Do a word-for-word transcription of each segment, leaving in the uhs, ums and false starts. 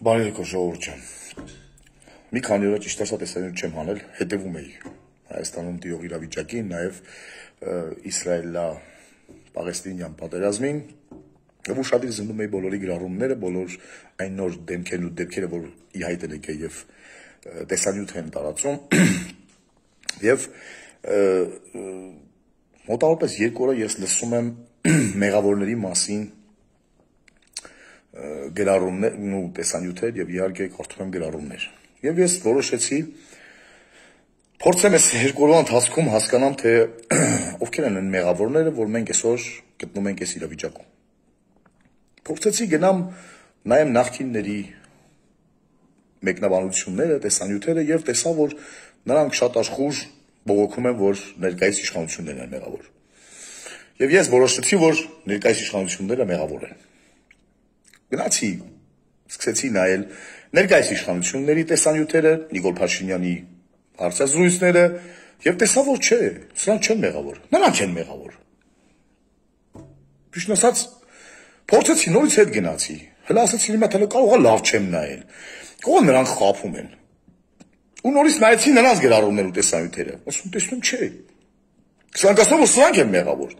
Բարի եկո ժողովուրդ ջան։ Մի քանի օր ճիշտ ասած տեսանյութ չեմ հանել, հետևում էի Հայաստանում տիրող իրավիճակին, նաև Իսրայելա-Պաղեստինյան պատերազմին, եւ ուշադիր զննում էի բոլորի գրառումները, բոլոր այն նոր դեմքերն ու դեպքերը, որ ի հայտ են եկել եւ տեսանյութ են տարածում, եւ մոտավորապես երկու օր ես լսում եմ մեղավորների մասին գրառումներ ու տեսանյութեր եւ իհարկե կարդում եմ գրառումներ։ Եվ ես որոշեցի փորձեմ այս երկու օրվա ընթացքում հասկանամ, թե ովքեր են այն մեղավորները, որ մենք այսօր գտնում ենք այս իրավիճակում։ Փորձեցի գնամ նայեմ նախկինների մեկնաբանությունները, տեսանյութերը եւ տեսա, որ նրանք շատ աշխուժ բողոքում են, որ ներկայիս իշխանություններն են մեղավոր։ Եվ ես որոշեցի, որ ներկայիս իշխանությունները մեղավոր են։ Գնացի, սկսեցի նայել ներկայիս իշխանությունների տեսանյութերը, Նիկոլ Փաշինյանի հարցազրույցները եւ տեսա, որ չէ, սրանք չեն մեղավոր, նրանք են մեղավոր։ Ճիշտ ասած, փորձեցի նորից հետ գնացի, հələ ասացի հիմա թե կարող է լավ չեմ նայել։ Կողը նրանք խափում են։ Ու նորից նայեցի նրանց գրառումներ ու տեսանյութերը, ասում տեսնում չէ։ Սրանք ասում որ սրանք են մեղավոր։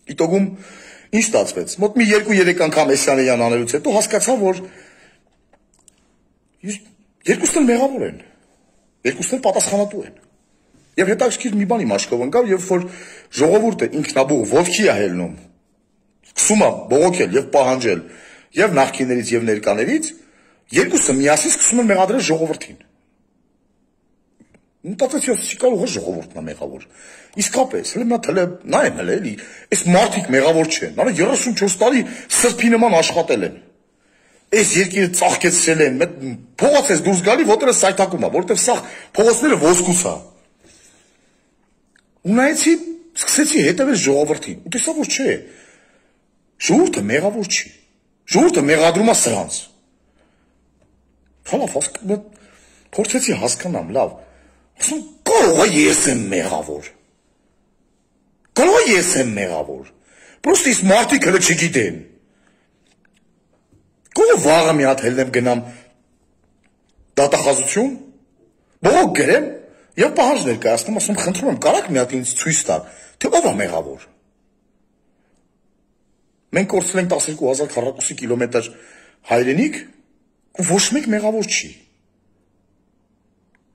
Իտոգում ինչ ստացվեց։ Մոտ մի երկու-երեք անգամ Էսյանեյան անելուց հետո հասկացա, որ երկուսն էլ մեղավոր են, երկուսն էլ պատասխանատու են։ Եվ հետաքրքիր մի բան իմ աչքով ընկավ, երբ որ ժողովուրդը ինքնաբուխ ոտքի է հելնում, սկսում է բողոքել եւ պահանջել եւ նախկիններից եւ ներկաներից, երկուսը միասին սկսում են մեղադրել ժողովրդին։ Մտածեցի, ասեցի կարող է ժողովուրդն է մեղավոր։ Իսկապես, հələ նա թելը նայեմ հələ էլի, այս մարդիկ մեղավոր չեն։ Նա երեսունչորս տարի սրբի նման աշխատել են։ Այս երկիրը ծաղկեցրել են, փողոց ես դուրս գալի, ոտերը սայթակում է, որովհետև սա փողոցները ոսկուց է։ Ու նայեցի, սկսեցի հետևել ժողովրդին։ Ու տեսա, որ չէ։ Ժողովուրդը մեղավոր չի։ Ժողովուրդը մեղադրում է սրանց։ Հալա, փորձեցի հասկանամ, լավ։ Ասում, կարող է ես եմ մեղավոր։ Կարող է ես եմ մեղավոր։ Պրոստը իս մարդիկ հլը չգիտեն։ Կարող է վաղը մի հատ հելնեմ գնամ դատախազություն, բողոք գրեմ և պահանջ ներկայացնում, ասում, խնդրում եմ, կարաք մի հատ ինձ ցույց տալ, թե ով է մեղավոր։ Մենք կորցրել ենք տասներկու հազար քառակուսի կիլոմետր հայրենիք, ու ոչ մեկ մեղավոր չի։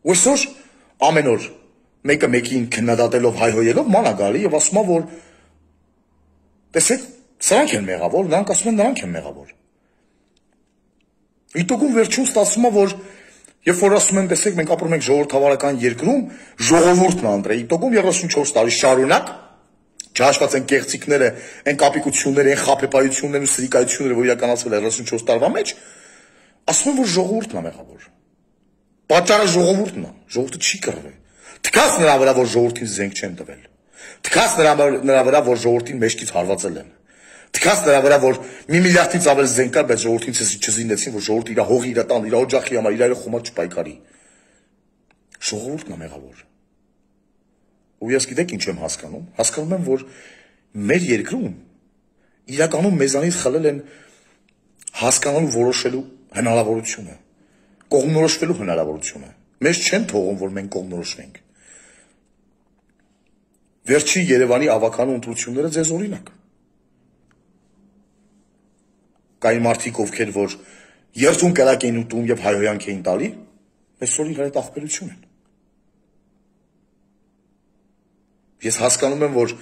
Ու այսօր ամեն օր մեկը մեկին քննադատելով հայհոյելով ման է գալի եւ ասում է, որ տեսեք, սրանք են մեղավոր, նրանք ասում են նրանք են մեղավոր։ Իտոգում վերջում ստացվում է, որ երբ որ ասում են, տեսեք, մենք ապրում ենք ժողովրդավարական երկրում, ժողովուրդն է ընտրել, իտոգում երեսունչորս տարի շարունակ չհաշված են կեղծիքները, այն կապիկությունները, այն խաբեբայություններն ու սրիկայությունները, որ իրականացվել է երեսունչորս տարվա մեջ, ասում են, որ ժողովուրդն է մեղավոր։ Պատճառը ժողովուրդն է, ժողովուրդը չի կռվել։ Թքած նրա վրա, որ ժողովրդին զենք չեն տվել։ Թքած նրա վրա, որ ժողովրդին մեջքից հարվածել են։ Թքած նրա վրա, որ մի միլիարդից ավել զենք կար, բայց ժողովրդին չզինեցին, որ ժողովուրդը իր հողի, իր տան, իր օջախի համար, իր խոմար չպայքարի։ Ժողովուրդն է մեղավոր։ Ու ես գիտեք ինչ եմ հասկանում։ Հասկանում եմ, որ մեր երկրում իրականում մեզանից խլել են հասկանալու որոշելու հնարավորությունը, կողմնորոշվելու հնարավորությունը։ Մեզ չեն թողում, որ մենք կողմնորոշվենք։ Վերջի Երևանի ավականու ընտրությունները ձեզ օրինակ։ Կային մարդիկ, ովքեր որ երթուն կրակ էին ուտում եւ հայհոյանք էին տալի, այսօր իրար հետ ախպերություն են։ Ես հասկանում եմ, որ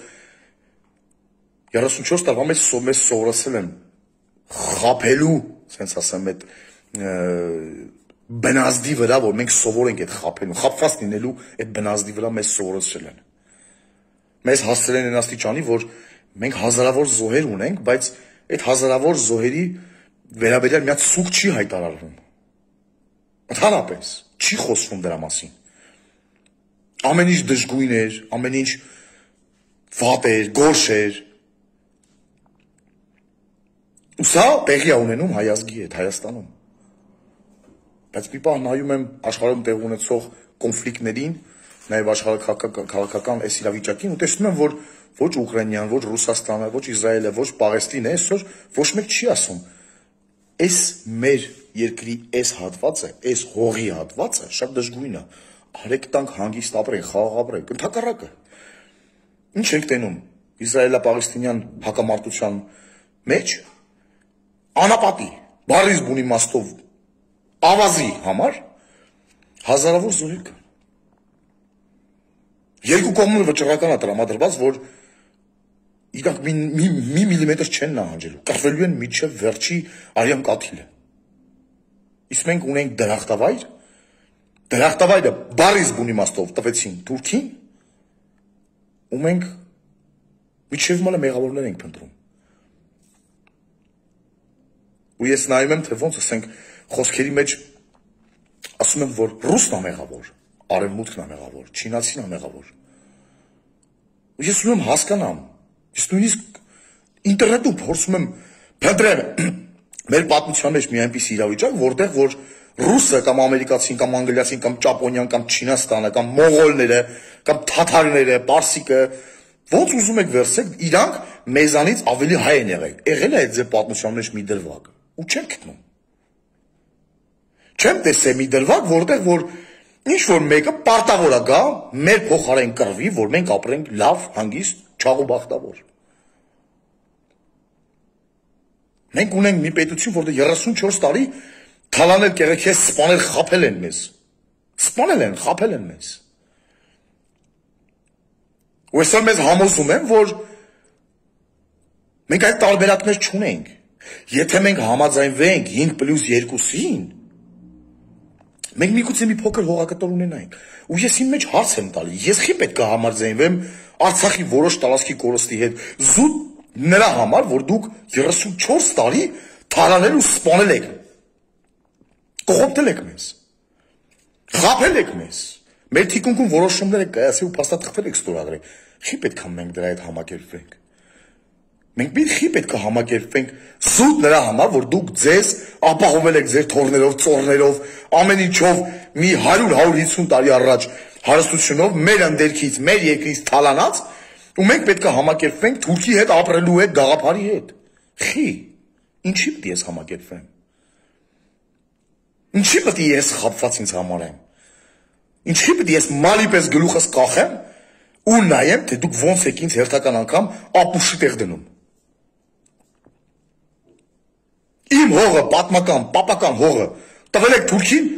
երեսունչորս տարվա մեջ մեզ սովորեցրել են խաբելու, ասենց ասեմ, այդ բնազդի վրա, որ մենք սովոր ենք այդ խաբելու, խաբված լինելու այդ բնազդի վրա մեզ սովորեցրել են։ Մեզ հասցրել են այն աստիճանի, որ մենք հազարավոր զոհեր ունենք, բայց այդ հազարավոր զոհերի վերաբերյալ մի հատ սուկ չի հայտարարվում։ Ընդհանրապես չի խոսվում դրա մասին։ Ամեն ինչ դժգույն էր, ամեն ինչ վատ էր, գորշ էր։ Ու սա տեղի է ունենում հայ ազգի հետ, Հայաստանում։ Բայց մի պահ նայում եմ աշխարհում տեղ ունեցող կոնֆլիկտներին, նաև աշխարհաքաղաքական այս իրավիճակին ու տեսնում եմ, որ ոչ Ուկրաինան, ոչ Ռուսաստանը, ոչ Իսրայելը, ոչ Պաղեստինը այսօր ոչ մեկ չի ասում, Այս մեր երկրի այս հատվածը, այս հողի հատվածը շատ դժգույն է։ Արեք տանք հանգիստ ապրենք, խաղաղ ապրենք, ընդհակառակը։ Ինչ ենք տենում Իսրայելա-Պաղեստինյան հակամարտության մեջ անապատի, բառից բուն իմաստով ավազի համար հազարավոր զորեր կան։ Երկու կողմը վճռական է տրամադրված, որ իրանք մի, մի, մի միլիմետր չեն նահանջելու, կռվելու են միջև վերջի արյան կաթիլը։ Իսկ մենք ունենք դրախտավայր, դրախտավայրը բառից բուն իմաստով տվեցին Թուրքին, ու մենք միջև մալը մեղավորներ ենք փնտրում։ Ու ես նայում եմ, թե ոնց ասենք խոսքերի մեջ ասում եմ, որ ռուսն է մեղավոր, արևմուտքն է մեղավոր, չինացին է մեղավոր։ Ու ես ուզում եմ հասկանամ, ես նույնիսկ ինտերնետում փորձում եմ փնտրել մեր պատմության մեջ մի այնպիսի իրավիճակ, որտեղ որ ռուսը կամ ամերիկացին կամ անգլիացին կամ ճապոնիան կամ Չինաստանը կամ մողոլները կամ թաթարները, պարսիկը ոնց ուզում եք վերցեք, իրանք մեզանից ավելի հայ են եղել։ Եղել է այդ ձեր պատմության մեջ մի դրվագ, ու չեմ գտնում։ Չեմ տեսել մի դրվագ, որտեղ որ ինչ որ մեկը պարտավոր է գա մեր փոխարեն կռվի, որ մենք ապրենք լավ, հանգիստ, չաղ ու բախտավոր։ Մենք ունենք մի պետություն, որտեղ երեսունչորս տարի թալանել, կեղեքես, սպանել, խաբել են մեզ։ Սպանել են, խաբել են մեզ։ Ու այսօր մեզ համոզում են, որ մենք այդ տարբերակներ չունենք։ Եթե մենք համաձայնվենք հինգ պլյուս երկուսին, մենք միգուցե մի փոքր հողակտոր ունենայինք։ Ու ես իմ մեջ հարց եմ տալի, ես խի պետք է համաձայնվեմ Արցախի որոշ տարածքի կորստի հետ, զուտ նրա համար, որ դուք երեսունչորս տարի թալանել ու սպանել եք։ Կողոպտել եք մեզ։ Խաբել եք մեզ։ Մեր թիկունքում որոշումներ եք կայացել ու փաստաթղթեր եք ստորագրել։ Խի պետք է մենք դրա հետ համակերպվենք։ Մենք մի խի պետք է համակերպվենք զուտ նրա համար, որ դուք ձեզ ապահովել եք ձեր թորներով, ծորներով, ամեն ինչով մի հարյուր հարյուր հիսուն տարի առաջ հարստությունով մեր ընդերքից, մեր երկրից թալանած, ու մենք պետք է համակերպվենք Թուրքի հետ ապրելու հետ, գաղափարի հետ։ Խի, ինչի պետք է ես համակերպվեմ։ Ինչի պետք է ես խաբված ինձ համարեմ։ Ինչի պետք է ես մալի պես գլուխս կախեմ ու նայեմ, թե դուք ոնց եք ինձ հերթական անգամ ապուշի տեղ դնում։ Իմ հողը, պատմական, պապական հողը տվել եք Թուրքին,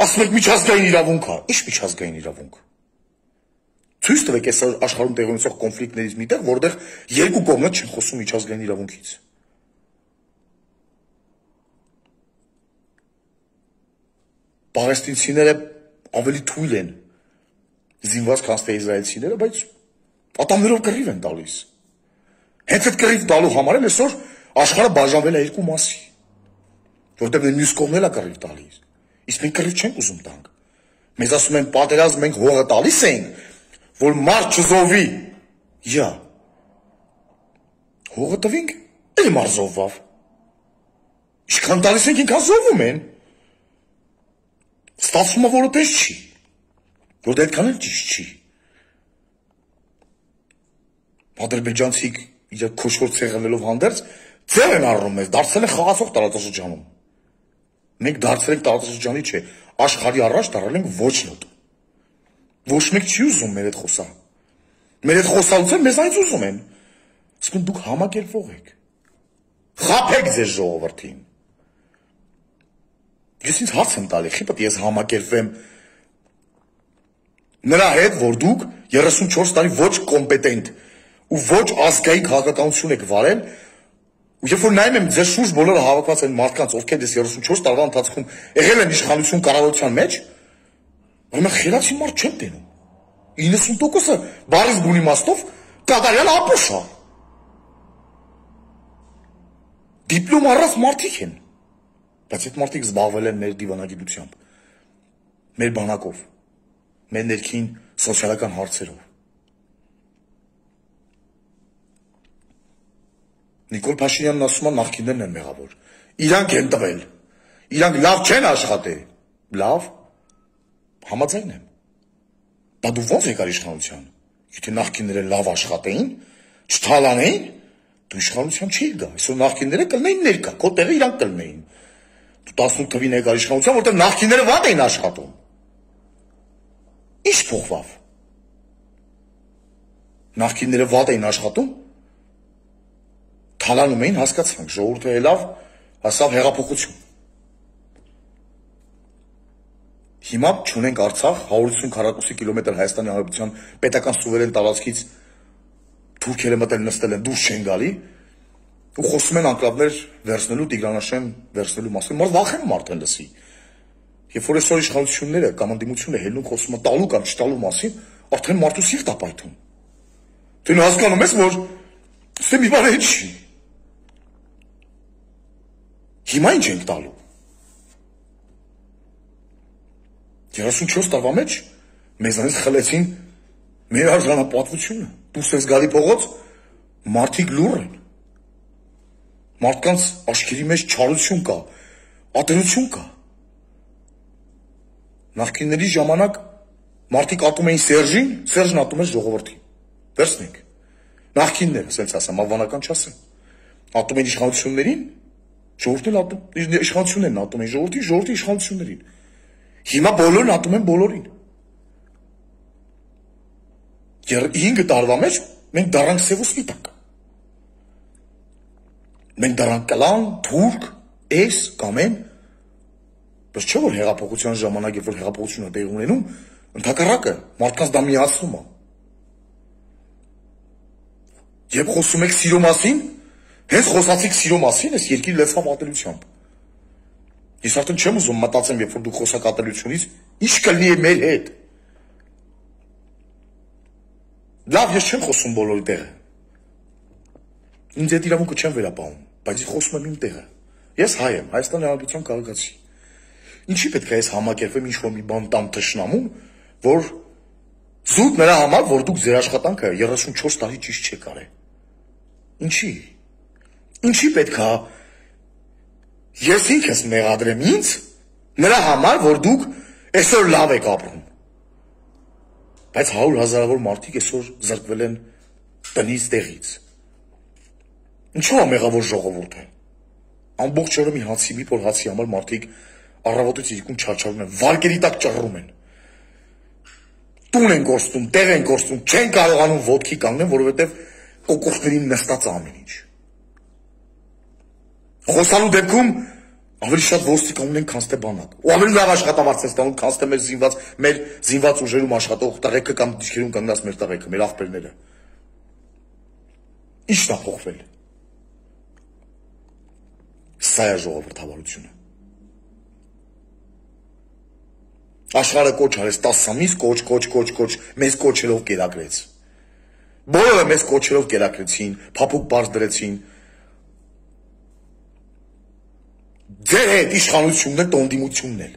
ասում եք միջազգային իրավունք է։ Ինչ միջազգային իրավունք։ Ցույց տվեք այս աշխարհում տեղի ունեցող կոնֆլիկտներից միտեղ, որտեղ երկու կողմը չեն խոսում միջազգային իրավունքից։ Պաղեստինցիները ավելի թույլ են զինված քան թե իսրայելցիները, բայց ատամներով կռիվ են տալիս։ Հենց այդ կռիվ տալու համար էլ այսօր աշխարհը բաժանվել է երկու մասի, որտեղ մյուս կողմն էլ է կռիվ տալիս։ Իսկ մենք կռիվ չենք ուզում տանք։ Մեզ ասում են պատերազմ մենք հողը տալիս ենք, որ մարդ չզովի։ Յա։ Հողը տվինք, էլ մարդ զովվավ։ Ինչքան տալիս ենք, ինքան զովում են։ Ստացվում է, որ այդպես չի։ Որտեղ այդքան էլ ճիշտ չի։ Ադրբեջանցիք իրար քոշքոր ցեղելով հանդերձ ձեր են առնում մեզ, դարձել են խաղացող տարածաշրջանում։ Մենք դարձել ենք տարածաշրջանի չէ, աշխարհի առաջ դարել ենք ոչ նոտ։ Ոչ մեկ չի ուզում մեր հետ խոսալ։ Մեր հետ խոսալուց մեզանից ուզում են։ Իսկ դուք համակերպվող եք։ Խաբեք ձեր ժողովրդին։ Ես ինձ հարց եմ տալի, խի պետք է ես համակերպվեմ նրա հետ, որ դուք երեսունչորս տարի ոչ կոմպետենտ ու ոչ ազգային քաղաքականություն եք վարել, ու երբ որ նայում եմ ձեր շուրջ բոլորը հավաքված են մարդկանց, ովքեր ես երեսունչորս տարվա ընթացքում եղել են իշխանություն կառավարության մեջ, որ մենք խելացի մարդ չեն տենում։ իննսուն տոկոսը բառից բուն իմաստով կատարյալ ապուշ է։ Դիպլոմ առած մարդիկ են, բայց այդ մարդիկ զբաղվել են մեր դիվանագիտությամբ, մեր բանակով, մեր ներքին սոցիալական հարցերով։ Նիկոլ Փաշինյանն ասում է նախկիններն են մեղավոր։ Իրանք են տվել։ Իրանք լավ չեն աշխատել։ Լավ, համաձայն եմ։ Բա դու ո՞նց եկար իշխանության։ Եթե նախկինները լավ աշխատեին, չթալանեին, դու իշխանության չի գա։ Այսօր նախկինները կլնեին ներկա, քո տեղը իրանք կլնեին։ տասնութ թվին եկար իշխանության, որտեղ նախկինները վատ էին աշխատում։ Ինչ փոխվավ։ Նախկինները վատ էին աշխատում, թալանում էին, հասկացանք, ժողովուրդը ելավ, հասավ հեղափոխություն։ Հիմա չունենք Արցախ, հարյուր ութսուն քառակուսի կիլոմետր Հայաստանի Հանրապետության պետական սուվերեն տարածքից թուրքերը մտել նստել են, դուրս չեն գալի, ու խոսում են անկլավներ վերցնելու, Տիգրանաշեն վերցնելու մասին, մարդ վախենում արդեն լսի։ Երբ որ այսօր իշխանությունները կամ ընդդիմությունը հելնում խոսում են տալու կամ չտալու մասին, արդեն մարդու սիրտ է պայթում։ Դու հասկանում ես, որ ստե մի բան չի։ Հիմա ինչ ենք տալու։ երեսունչորս տարվա մեջ մեզանից խլեցին մեր արժանապատվությունը։ Դուրս ես գալի փողոց, մարդիկ լուռ են։ Մարդկանց աչքերի մեջ չարություն կա, ատելություն կա։ Նախկինների ժամանակ մարդիկ ատում էին Սերժին, Սերժն ատում էր ժողովրդին։ Վերցնենք։ Նախկինները, ասենց ասեմ, ավանական չասեմ։ Ատում են իշխանություններին, ժողովրդին ատում, իշխանություններն ատում են ժողովրդին, ժողովրդի իշխանություններին։ Հիմա բոլորն ատում են բոլորին։ Հինգ տարվա մեջ մենք դառանք սև ու սպիտակ։ Մենք դառանք կլան, թուրք, էս, կամեն, բայց չէ որ հեղափոխության ժամանակ, երբ որ հեղափոխությունը տեղի ունենում, ընդհակառակը մարդկանց դա միացնում է։ Երբ խոսում եք սիրո մասին, հենց խոսացիք սիրո մասին, այս երկիրը լեցավ ատելությամբ։ Ես արդեն չեմ ուզում մտածեմ, երբ որ դուք խոսակ ատելությունից, ինչ կլինի է մեր հետ։ Լավ, ես չեմ խոսում բոլորի տեղը։ Ինձ այդ իրավունքը չեմ վերապահում, բայց ես խոսում եմ իմ տեղը։ Ես հայ եմ, Հայաստանի Հանրապետության քաղաքացի։ Ինչի պետք է ես համակերպեմ ինչ-որ մի բան տամ թշնամուն, որ զուտ նրա համար, որ դուք ձեր աշխատանքը երեսունչորս տարի ճիշտ չեք արել։ Ինչի։ Ինչի պետք է ես ինքս մեղադրեմ ինձ նրա համար, որ դուք այսօր լավ եք ապրում։ Բայց հարյուր հազարավոր մարդիկ այսօր զրկվել են տնից տեղից։ Ինչու է մեղավոր ժողովուրդը։ Ամբողջ օրը մի հացի, մի փոր հացի համար մարդիկ առավոտից իրիկուն չարչարում են, վարկերի տակ ճռռում են։ Տուն են կորստում, տեղ են կորստում, չեն կարողանում ոտքի կանգնել, որովհետև կոկորդներին նստած ամեն ինչ։ Խոսալու դեպքում ավելի շատ ոստիկան ունեն, քան թե բանակ։ Ու ավելի լավ աշխատավարձ են ստանում, քան թե մեր զինված, մեր զինված ուժերում աշխատող տղեկը կամ դիջերում կանգնած մեր տղեկը, մեր աղբերները։ Ի՞նչն է փոխվել։ Սա է ժողովրդավարությունը։ Աշխարհը կոչ արեց տասը ամիս, կոչ, կոչ, կոչ, կոչ, մեզ կոչերով կերակրեց։ Բոլորը մեզ կոչերով կերակրեցին, փափուկ բարձ դրեցին։ Ձեր հետ իշխանությունն է, տոնդիմությունն էլ։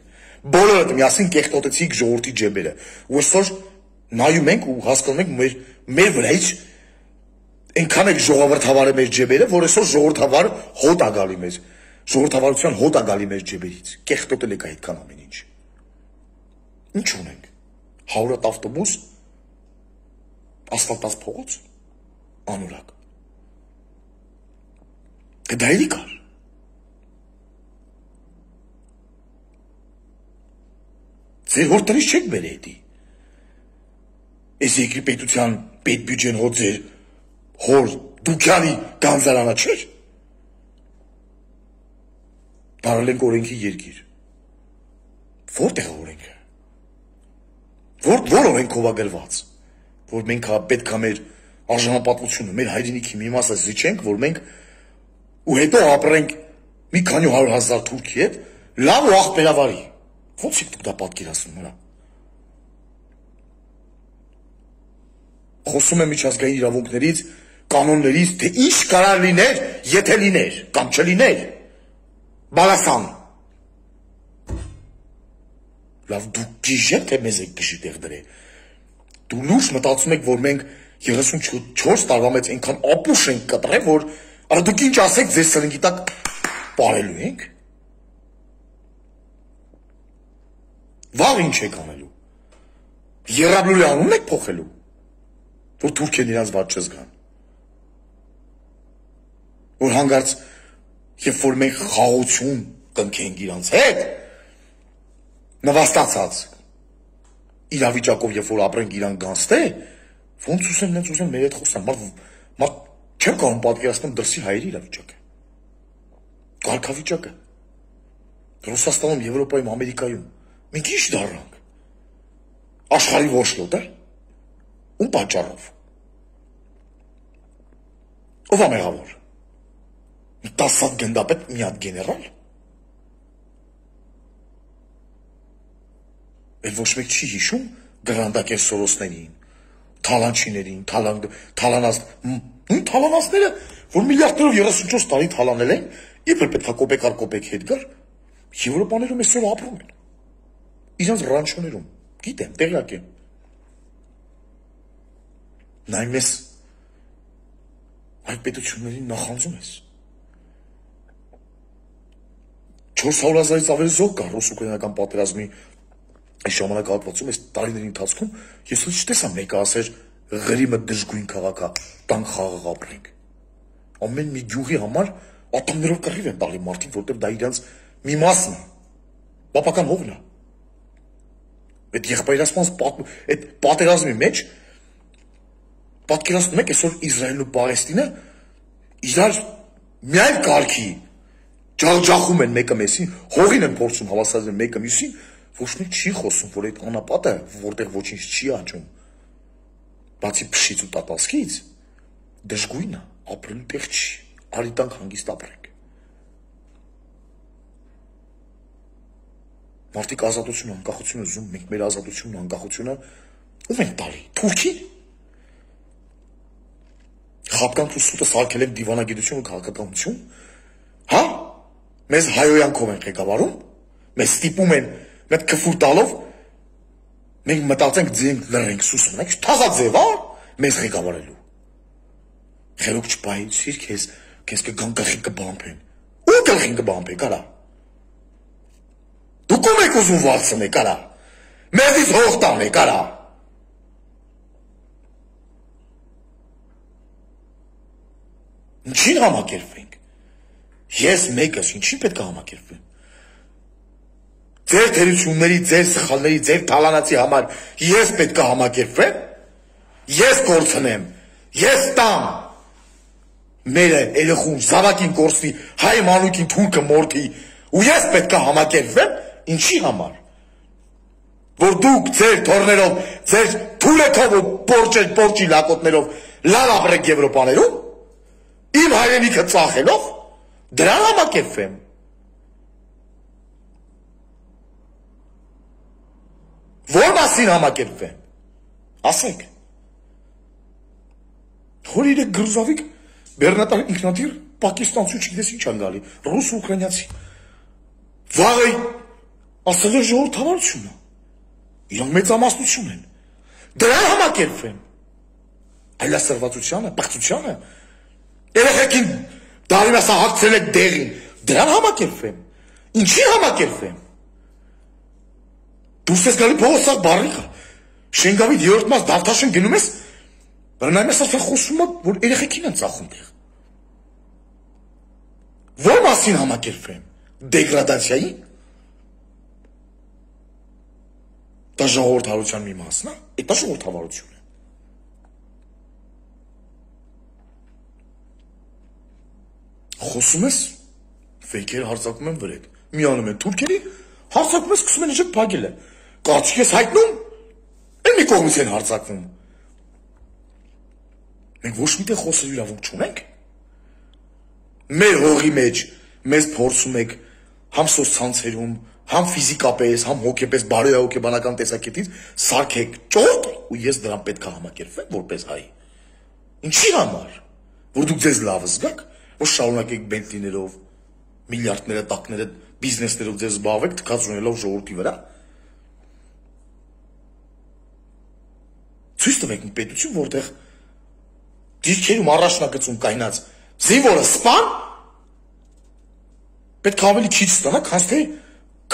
Բոլորդ միասին կեղտոտեցիք ժողովրդի ջեբերը։ Ու այսօր նայում ենք ու հասկանում ենք մեր մեր վրայից այնքան եք ժողովրդավարը մեր ջեբերը, որ այսօր ժողովրդավար հոտ է գալի մեզ։ Ժողովրդավարության հոտ է գալի մեր ջեբերից։ Կեղտոտել եք այդքան ամեն ինչ։ Ինչ ունենք։ հարյուր ավտոբուս, ասֆալտած փողոց, անորակ։ Դա էլի կար։ Ձեր հոր տնից չեք բերե հետի։ Այս երկրի պետության պետ բյուջեն հո ձեր հոր դուքյանի գանձարանը չէր։ Բարել ենք օրենքի երկիր։ Որտեղ է օրենքը։ Որ որ օրենքով է գրված, որ մենք պետք է մեր արժանապատվությունը, մեր հայրենիքի մի մասը զիջենք, որ մենք ու հետո ապրենք մի քանի հարյուր հազար թուրքի հետ, լավ ու աղբերավարի։ Ո՞նց եք դուք դա պատկերացնում հրա։ Խոսում եմ միջազգային իրավունքներից, կանոններից, թե ինչ կարող լիներ, եթե լիներ, կամ չլիներ։ Բալասան։ Լավ դուք գիժեք, թե մեզ եք գժի տեղ դրե։ Դու լուրջ մտածում եք, որ մենք երեսունչորս տարվա մեջ այնքան ապուշ ենք կտրել, որ արա դուք ինչ ասեք, ձեր սրնգի տակ պարելու ենք։ Վաղ ինչ եք անելու։ Եռաբլուրի անունն եք փոխելու, որ թուրքեն իրանց վատ չզգան։ Որ հանգարց, երբ որ մենք խաղաղություն կնքենք իրանց հետ, նվաստացած, իրավիճակով, երբ որ ապրենք իրան գանստե, ոնց ուզեմ, նենց ուզեմ մեր հետ խոսեմ, մար չեմ կարող պատկերացնեմ դրսի հայերի իրավիճակը, կարգավիճակը, Ռուսաստանում, Եվրոպայում, Ամերիկայում, մենք ինչ դառնանք, աշխարհի ոչլոտ է, ում պատճառով, ով է մեղավոր, տասը հատ գնդապետ մի հատ գեներալ, էլ ոչ մեկ չի հիշում գռանդակեր Սորոսներին, թալանչիներին, թալանած, նույն թալանածները, որ միլիարդներով երեսունչորս տարի թալանել են, երբ էլ պետք է կոպեկ առ կոպեկ հետ գար, Եվրոպաներում այսօր ապրում են, իրանց ռանչոներում, գիտեմ, տեղյակ եմ, նայում ես այդ պետություններին նախանձում ես, չորս հարյուր հազարից ավելի զոհ կա ռուս-ուկրաինական պատերազմի այս ժամանակահատվածում, այս տարիների ընթացքում, ես էլ չտեսա մեկը ասեր Ղրիմը դժգույն քաղաք է, տանք խաղաղ ապրենք, ամեն մի գյուղի համար ատոմներով կռիվ են տալի մարդիկ, որտեղ դա իրենց մի մասն է, պապական հողն է, այդ եղբայրացման, այդ պատերազմի մեջ, պատկերացնում եք այսօր Իսրայելն ու Պաղեստինը իրար միայն կարգի ջախջախում են մեկը մեսին, հողին են փորձում հավասարել մեկը մյուսին, ոչ մեկ չի խոսում, որ այդ անապատը, որտեղ ոչինչ չի աճում, բացի փշից ու տատասկից, դժգույն է, ապրելու տեղ չի, արի տանք հանգիստ ապրենք։ Մարդիկ ազատություն, անկախություն ուզում, մենք մեր ազատությունն ու անկախությունը ում ենք տալի, Թուրքին։ Խապկանք ու սուտը սարքել ենք դիվանագիտություն ու քաղաքականություն, հա, մեզ հայոյանքով են ղեկավարում, մեզ ստիպում են մեծ քֆուր տալով, մենք մտածենք ձենք լրենք սուս մնանք, թազաձև, հա, մեզ ղեկավարելու։ Խելոք չպահեցիր, քեզ քեզ կգան գլխին կբամբեն։ Ու գլխին կբամբեն, կարա։ Դուք ո՞ւմ եք ուզում վարձնեք, կարա։ Մեզից հող տանեք, կարա։ Ինչին համակերպվենք։ Ես մեկս, ինչին պետք է համակերպվեմ։ Ձեր թերությունների, ձեր սխալների, ձեր թալանացի համար ես պետք է համակերպվեմ, ես կորցնեմ, ես տամ, մերը երեխուն, զավակին կորցնի, հայ մանուկին թուրքը մորթի, ու ես պետք է համակերպվեմ, ինչի համար, որ դուք ձեր թորներով, ձեր թուրեքով ու պորջի լակոտներով լավ ապրեք Եվրոպաներում, իմ հայրենիքը ծախելով, դրան համակերպվեմ։ Որ մասին համակերպվեմ, ասեք, հոր իրեք գրուզավիկ, բերնատար ինքնատիր, պակիստանցու չգիտես ինչ են գալի, ռուս ու ուկրաինացի, վաղը ասել է ժողովրդավարությունը, իրանք մեծամասնություն են, դրան համակերպվեմ, այլասրվածությանը, պղծությանը, երեխեքին դարին ասա հագցել եք դեղին, դրան համակերպվեմ, ինչի համակերպվեմ, դուրս ես գալի փողոցակ բարիքա, Շենգավիթ երրորդ մաս Դավթաշեն գնում ես, բռնայում ես արդեն խոսում է, որ երեխեքին են ծախում տեղ։ Որ մասին համակերպվեմ, դեգրադացիայի, դա ժողովրդավարության մի մասն է, դա ժողովրդավարություն է։ Խոսում ես, ֆեյքեր հարձակում են վրետ, միանում են թուրքերի, հարձակում ես, սկսում են իջեք փակել է, կարծիք ես հայտնում, էլ մի կողմից են հարձակվում։ Մենք ոչ միտեղ խոսել իրավունք չունենք։ Մեր հողի մեջ մեզ փորձում եք համ սոցցանցերում, համ ֆիզիկապես, համ հոգեպես, բարոյահոգեբանական տեսակետից սարքեք ճորտ, ու ես դրան պետք է համակերպվեմ որպես հայ։ Ինչի համար, որ դուք ձեզ լավ զգաք, որ շարունակեք բենտլիներով, միլիարդները, տակները, բիզնեսներով ձեզ զբաղվեք, թքած ունելով ժողովրդի վրա։ Ցույց տվեք մի պետություն, որտեղ դիրքերում առաջնագծում կայնած զինվորը սպան պետք է ավելի քիչ ստանա, քան թե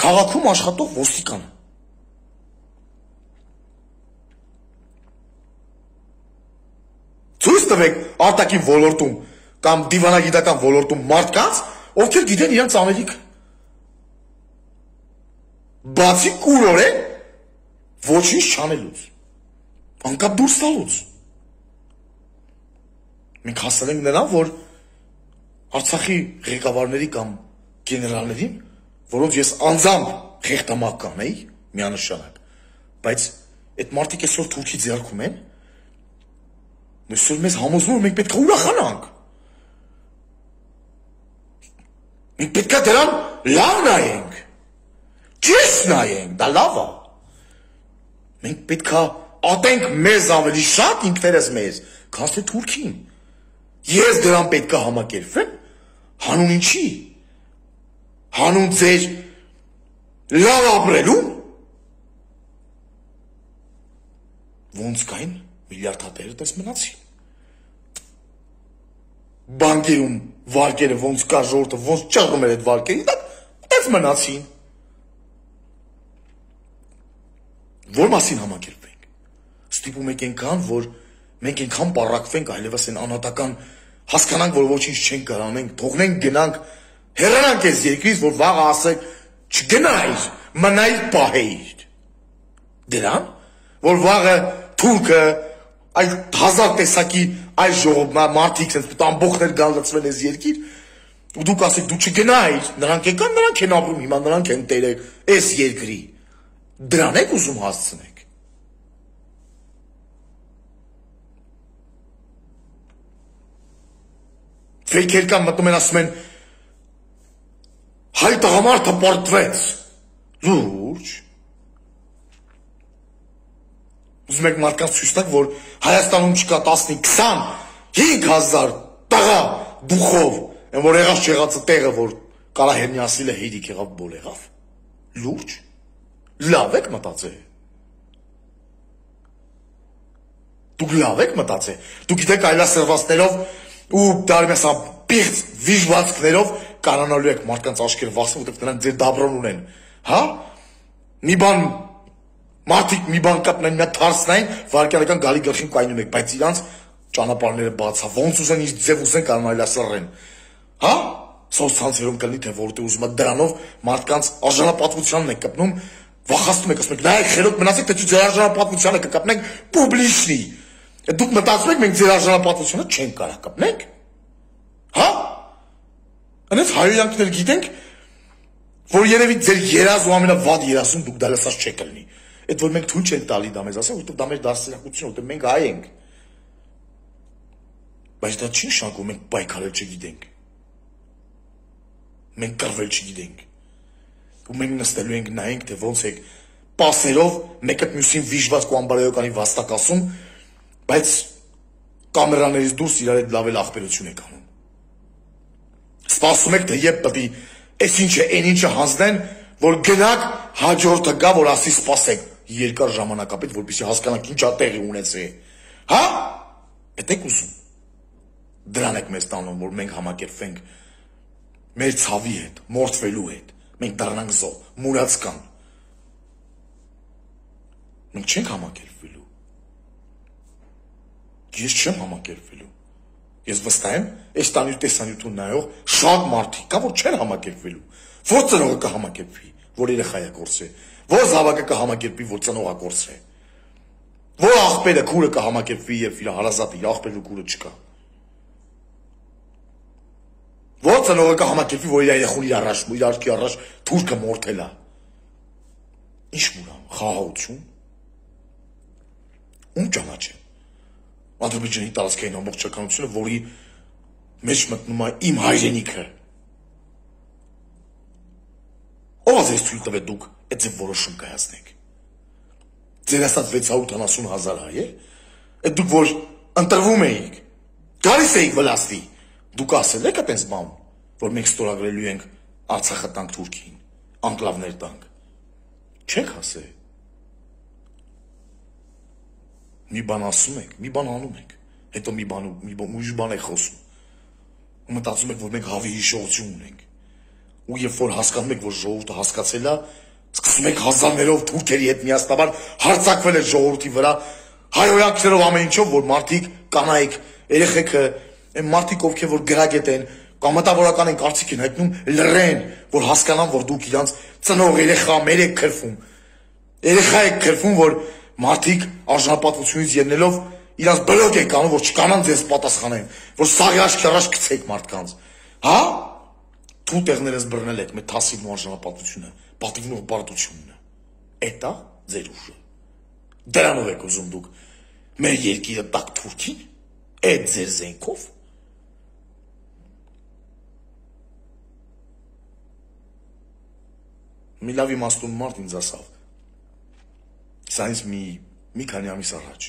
քաղաքում աշխատող ոստիկանը։ Ցույց տվեք արտաքին ոլորտում կամ դիվանագիտական ոլորտում մարդկանց, ովքեր գիտեն իրենց Ամերիկը, բացի կուրորեն ոչինչ չանելուց, անկապ դուրս տալուց։ Մենք հասել ենք նրան, որ Արցախի ղեկավարների կամ գեներալներին, որոնց ես անձամբ խեղդամահ կանեի, միանշանակ, բայց այդ մարդիկ այսօր Թուրքի ձեռքում են, այսօր մեզ համոզվում են, մենք պետք է ուրախանանք։ Մենք պետք է դրան լավ նայենք, ճիշտ նայենք, դա լավ է։ Մենք պետք է ատենք մեզ ավելի շատ ինքներս մեզ, քան թե Թուրքին։ Ես դրան պետք է համակերպվեմ, հանուն ինչի, հանուն ձեր լավ ապրելու, ոնց կային միլիարդատերը տես մնացին։ Բանկերում վարկերը ոնց կա ժողովուրդը, ոնց ճռում էր այդ վարկերի տակ, տես մնացին։ Որ մասին համակերպվենք։ Ստիպում եք այնքան, որ մենք այնքան պառակվենք, այլևս այն անհատական հասկանանք, որ ոչինչ չենք կարող անենք, թողնենք գնանք, հեռանանք այս երկրից, որ վաղը ասեք, չգնայր, մնայր պահեիր։ Դրան, որ վաղը թուրքը, այլ հազար տեսակի այլ ժողով մարդիկ sense ամբողջներ գան լցվեն այս երկիր, ու դուք ասեք դու չգնայիր, նրանք եկան, նրանք են ապրում, հիմա նրանք են տերը այս երկրի։ Դրան եք ուզում հասցնեք։ Ֆեյքեր կան մտնում են ասում են հայ տղամարդը պարտվեց։ Լուրջ։ Ուզում եք մարդկանց ցույց տալ, որ Հայաստանում չկա տասնինը, քսան, հինգ հազար տղա դուխով, այն որ եղած չեղածը տեղը, որ Կարահերնյասիլը հերիք եղավ, բոլ եղավ։ Լուրջ։ Լավ եք մտածել։ Դուք լավ եք մտածել։ Դուք գիտեք այլասերվածներով ու դարմեսա պիղծ վիժվածքներով կարանալու եք մարդկանց աչքերը վախսում, որտեղ նրանք ձեր դաբրոն ունեն։ Հա? Մի բան մարդիկ մի բան կապնեն, մի թարսնային, վարկյանական գալի գլխին կայնում եք, բայց իրանց ճանապարհները բացա, ոնց ուզեն ինչ ձև ուզեն կարող այլասերեն։ Հա? Սոցցանցերում կլինի թե որտեղ ուզում եք դրանով մարդկանց արժանապատվությանն եք կպնում, վախացնում եք, ասում եք, նայեք խելոք մնացեք, թե ձեր արժանապատվությանը կկապնենք պուբլիչնի։ Դուք մտածում եք մենք ձեր արժանապատվությունը չենք կարող կապնենք։ Հա? Այնպես հայոյանքներ գիտենք, որ երևի ձեր երազ ու ամենավատ երազում դուք դա լսած չեք լինի։ Այդ որ մենք թույլ չենք տալի դա մեզ ասել, որովհետև դա մեր դասերակցությունը, որովհետև մենք հայ ենք։ Բայց դա չի նշանակում մենք պայքարել չգիտենք։ Մենք կռվել չգիտենք։ Ու մենք նստելու ենք նայենք, թե ոնց եք պասերով մեկը մյուսին վիժված ու անբարոյականի վաստակասում, բայց կամերաներից դուրս իրար հետ լավ էլ ախպերություն եք անում։ Սպասում եք, թե երբ պետք է այս ինչը, այն ինչը հանձնեն, որ գնաք հաջորդը գա, որ ասի սպասեք երկար ժամանակապետ, որպեսզի հասկանանք ինչա տեղի ունեցել։ Հա? Էդ եք ուզում։ Դրան եք մեզ տանում, որ մենք համակերպվենք մեր ցավի հետ, մորթվելու հետ։ Մենք դառնանք զոհ, մուրած կան։ Մենք չենք համակերպվելու։ Ես չեմ համակերպվելու։ Ես վստահ եմ, այս տանյուր տեսանյութուն նայող շատ մարդիկ կա, որ չեն համակերպվելու։ Որ ծնողը կհամակերպվի, որ երեխայա կորսե, որ զավակը կհամակերպվի, որ ծնողը կորսե, որ աղբերը քուրը կհամակերպվի, երբ իր հարազատը իր աղբերն ու քուրը չկա։ Որ ծնողը կհամակերպվի, որ իր երեխուն իր առաջ, իր աչքի առաջ թուրքը մորթել է։ Ինչ մուրամ, խաղաղություն։ Ում ճանաչեմ։ Ադրբեջանի տարածքային ամբողջականությունը, որի մեջ մտնում է իմ հայրենիքը։ Ո՞վ ձեզ թույլ տվեց դուք այդ ձեր որոշում կայացնեք։ Ձեր ասած վեց հարյուր ութանասուն հազար հայ է։ Այդ դուք որ ընտրվում էիք, գալիս էիք վլաստի, դուք ասել եք այդպես բան, որ մենք ստորագրելու ենք Արցախը տանք Թուրքին, անկլավներ տանք։ Չեք ասել։ Մի բան ասում եք, մի բան անում եք, հետո մի բան ուրիշ բան եք խոսում։ Ու մտածում եք, որ մենք հավի հիշողություն ունենք։ Ու երբ որ հասկանում եք, որ ժողովուրդը հասկացել է, սկսում եք հազարներով թուրքերի հետ միասնաբար հարձակվել եք ժողովրդի վրա, հայհոյանքներով ամեն ինչով, որ մարդիկ կանայք, երեխեքը, այն մարդիկ ովքեր որ գրագետ են, կամ մտավորական են կարծիք են հայտնում լռեն, որ հասկանան, որ դուք իրանց ծնող երեխա մեր եք քրվում։ Երեխա եք քրվում, որ մարդիկ արժանապատվությունից ելնելով իրանց բլոկ եք անում, որ չկանան ձեզ պատասխանեն, որ սաղի աչքի առաջ գցեք մարդկանց։ Հա? Դու տեղներս բռնել եք մեր թասիվն ու արժանապատվությունը, պատիվն ու բարդությունն է։ Էդ է ձեր ուժը։ Դրանով եք ուզում դուք մեր երկիրը տակ թուրքին, այդ ձեր զենքով։ Մի լավ իմաստուն մարդ ինձ ասավ, սա ինձ մի, մի քանի ամիս առաջ,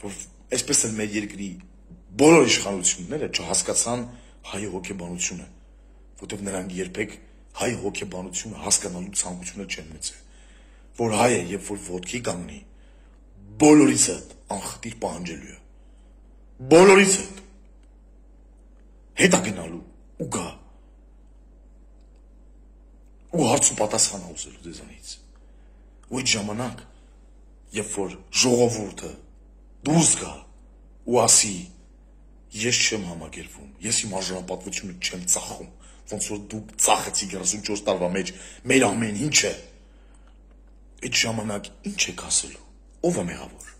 որ այսպես էլ մեր երկրի բոլոր իշխանությունները չհասկացան հայ հոգեբանությունը, որտեղ նրանք երբեք հայ հոգեբանությունը հասկանալու ցանկությունը չեն մեծել, որ հայը երբ որ ոտքի կանգնի, բոլորից հետ անխտիր պահանջելու է, բոլորից հետ հետա գնալու ու գա, ու հարց ու պատասխան ուզելու ձեզանից, ու այդ ժամանակ, երբ որ ժողովուրդը դուրս գա ու ասի, ես չեմ համագերվում, ես իմ արժանապատվությունը չեմ ծախում, ոնց որ դուք ծախեցիք երեսունչորս տարվա մեջ մեր ամեն ինչը, այդ ժամանակ ինչ եք ասելու, ով է մեղավոր։